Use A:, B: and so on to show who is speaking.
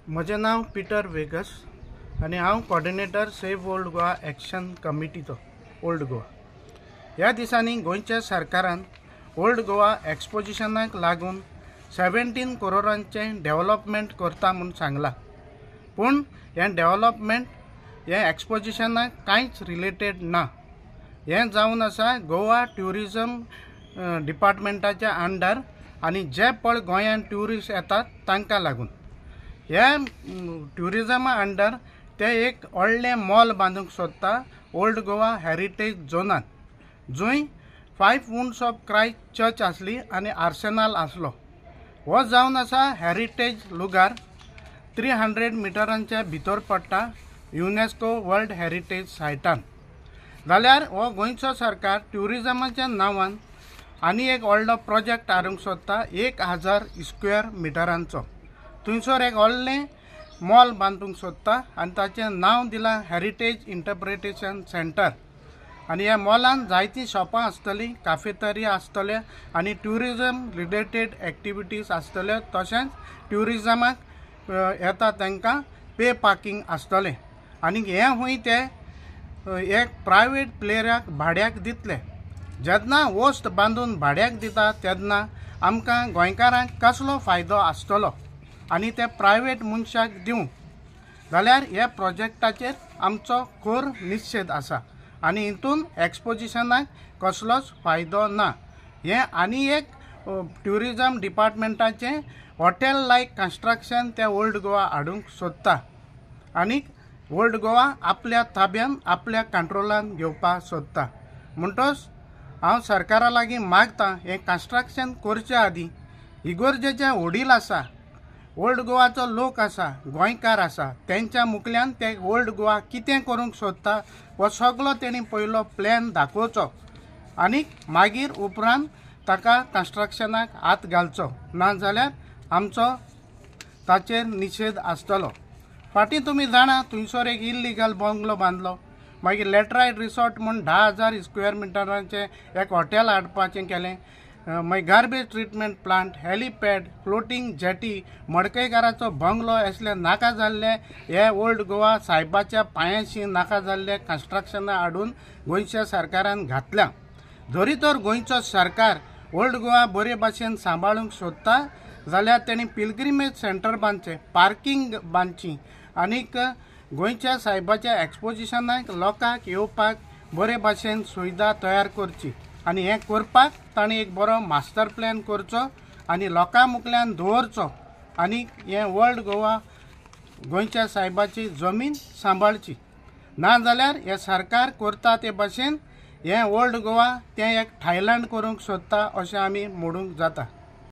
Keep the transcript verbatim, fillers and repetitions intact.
A: म्हजें नांव Peter vagus आनी हांव coordinator save old Goa action कमिटीचो ओल्ड गोवा. ह्या दिसांनी गोंयच्या सरकारान ओल्ड गोवा एक्सपोजिशनाक लागून सेवेंटीन करोडांचें डेवलपमेंट करता म्हूण सांगलां, पूण हें डेवलपमेंट हें एक्सपोजिशनाक कांयच रिलेटेड ना. हें जावन आसा गोवा ट्युरिजम डिपार्टमेंटाच्या अंडर आनी जे पळ गोंयांत ट्युरिस्ट येतात तांकां लागून ह्या ट्युरिजमा अंडर ते एक व्हडलें मॉल बांदूंक सोदता ओल्ड गोवा हेरिटेज झोनान, जंय five wounds of Christ church आसली आनी आर्सेनाल आसलो. हो जावन आसा हेरिटेज लुगार थ्री हंड्रेड मिटरांच्या भितर पडटा युनेस्को वर्ल्ड हेरिटेज सायटान. जाल्यार हो गोंयचो सरकार ट्युरिजमाच्या नांवान आनी एक व्हडलो प्रोजेक्ट हाडूंक सोदता एक हजार स्क्वेअर मिटरांचो. थंयसर एक व्हडलें मॉल बांदूंक सोदता आनी ताचें नांव दिलां हेरिटेज इंटरप्रिटेशन सेंटर. आनी ह्या मॉलान जायतीं शॉपां आसतलीं, काफेतरिया आसतल्यो आनी ट्युरिजम रिलेटेड एक्टिविटीज आसतल्यो, तशेंच ट्युरिजमाक येता तांकां पे पार्किंग आसतलें. आनी हें खूंय ते एक प्रायवेट प्लेयराक भाड्याक दितले. जेन्ना वस्त बांदून भाड्याक दिता तेन्ना आमकां गोंयकारांक कसलो फायदो आसतलो आनी ते प्रायवेट मनशाक दिवंक जाल्यार ह्या प्रोजेक्टाचेर आमचो खर निशेध आसा आनी हितून एक्सपोजिशनाक कसलोच फायदो ना. हें आनी एक ट्युरिजम डिपार्टमेंटाचें हॉटेल लायक कन्स्ट्रक्शन ते ओल्ड गोवा हाडूंक सोदता आनी ओल्ड गोवा आपल्या ताब्यान आपल्या कंट्रोलान घेवपाक सोदता. म्हणटच हांव सरकारा लागीं मागता हें कन्स्ट्रक्शन करचे आदीं इगोर्जेचे वडील आसा, ओल्ड गोवाचो लोक आसा, गोंयकार आसा, तेंच्या मुखल्यान ते ओल्ड गोवा कितें करूंक सोदता हो सगलो तेणी पयलो प्लॅन दाखोवचो आनी मागीर उपरांत ताका कन्स्ट्रक्शनाक हात घालचो, ना जाल्यार आमचो ताचेर निशेध आसतलो. फाटीं तुमी जाणा थंयसर एक इल्लिगल बंगलो बांदलो, मागीर लॅटरायट रिसॉर्ट म्हूण धा हजार स्क्वेअर मिटरांचें एक हॉटेल हाडपाचें केलें, मागीर garbage treatment plant, helipad, floating jetty, मडकयकाराचो bungalow असले नाका जाल्ले हे ओल्ड गोवा सायबाच्या पांयाशी नाका जाल्ले कन्स्ट्रक्शनां हाडून गोंयच्या सरकारान घातल्या. जरी तर गोंयचो सरकार ओल्ड गोवा बरे भाशेन सांबाळूंक सोदता जाल्यार तेणी पिलग्रिमेज सेंटर बांदचें, पार्किंग बांदची आनीक गोंयच्या सायबाच्या एक्सपोजिशनाक लोकांक येवपाक बरे भाशेन सुविधा तयार करची आनी हें करपाक ताणें एक बरो मास्टर प्लॅन करचो आनी लोकां मुखल्यान दवरचो आनी हें ओल्ड गोवा गोंयच्या सायबाची जमीन सांबाळची. ना जाल्यार हें सरकार करता ते भाशेन हें ओल्ड गोवा तें एक थायलंड करूंक सोदता अशें आमी म्हणूंक जाता.